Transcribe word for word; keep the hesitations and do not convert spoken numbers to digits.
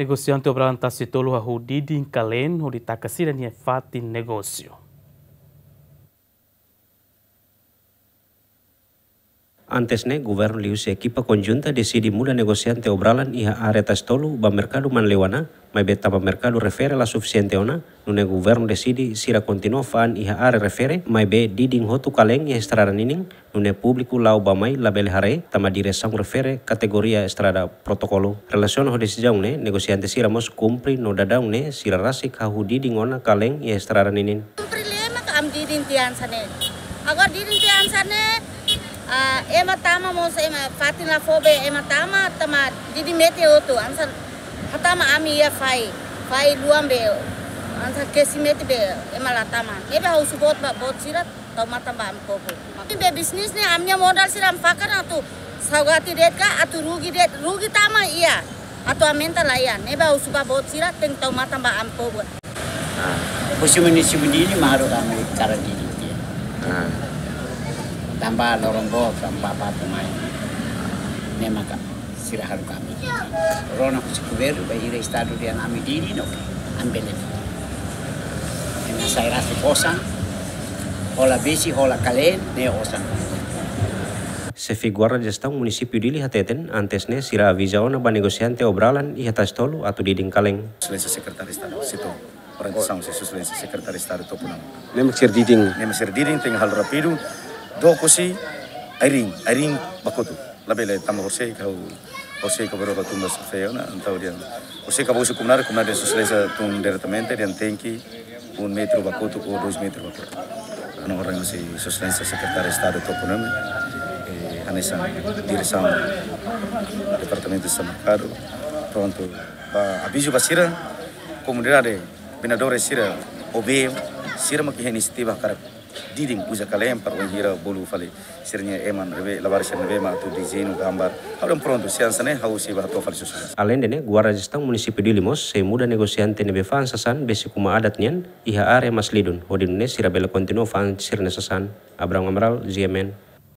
Negosiante Obralan Tasitolu hahú didin kaleen hodi taka sira-nia fatin negósiu. Antes ne'e, governu liuhusi ekipa konjunta deside muda negosiante Obralan iha área Tasitolu ba merkadu Manleuana, maibé tanba merkadu refere la sufisiente ona, nune'e governu deside sira kontinua fa'an iha área refere, maibé didin hotu kaleen iha estrada ninin, nune'e públiku la'o bá-mai labele haree, tanba diresaun refere kategoria estrada protokolu. Relasiona ho desizaun ne'e, negosiante sira mós kumpre no daudaun ne'e sira rasik hahú didin ona kaleen iha estrada ninin. Kumpre lee maka ami didin tiha hanesan ne'e. Agora didin tiha hanesan ne'e, ah, ema tama mós ema fatin la fó be ema tama, tanba didin metin hotu, hanesan hatama ami iha fai, fai luan be, hanesan kesi metin be, ema la tama. Ne'ebé ha'u husu boot ba, boot sira tau matan ba ami povu. Be bisnis ne'e ami-nia modal sira ami fakar atu saugati de'it ka, atu rugi de'it, rugi tama iha. Atu aumenta la iha. Ne'ebé ha'u husu ba boot sira tenke tau matan ba ami povu. Ah. Husi munisípiu Dili mak haruka ami hakarak didin tiha. Ah. Tanba loron boot, tanba batu mai. Ne'e maka sira haruka ami. Rona husi governu, bainhira estadu dehan ami didin, no, ami bele. Ema sai rasik osan, hola besi, hola kaleen, ne'e osan. Xefe Guarda Jestaun Munisípiu Dili hateten, antes ne'e sira aviza ona ba negosiante Obralan iha Tasitolu atu didin kaleen. Exelénsia Sekretáriu Estadu, setór orientasaun husi Sua Exelénsia Sekretáriu Estadu Topo Namo. Ne'e mak sira didin. Ne'e mak sira didin, tenke halo rápidu. Dook husi Airin, Airin ba kotuk. Labele tanba horisehik ha'u, horisehik ha'u baru ha'u tun ba xefe ona, entaun dehan horisehik ha'u ba husu komunidade, komunidade Sua Exelénsia tun diretamente, dehan tenke um metru ba kotuk ou dois metru ba kotuk. Ha'u-nia orden husi Sua Exelénsia Sekretáriu Estadu Topo Namo, eh, hanesan diresaun Departamentu Supermerkadu, prontu, ba avizu ba sira, komunidade, vendedores sira, O B M, sira mak iha inisiativa hakarak didin uza kaleen para bainhira bolu fali sira-nia ema ne'ebé, labarik sira ne'ebé mak atu dezeñu, gambar. Ha'u dehan prontu, se hanesan ne'e ha'u sei bá hato'o fali Sua Exelénsia. Aleinde ne'e, Guarda Jestaun Munisípiu Dili mós sei muda negosiante ne'ebé fa'an sasán besik uma adat nian iha área Maslidoun, hodi nune'e sira bele kontinua fa'an sira-nia sasán. Abraham Amaral, G M N.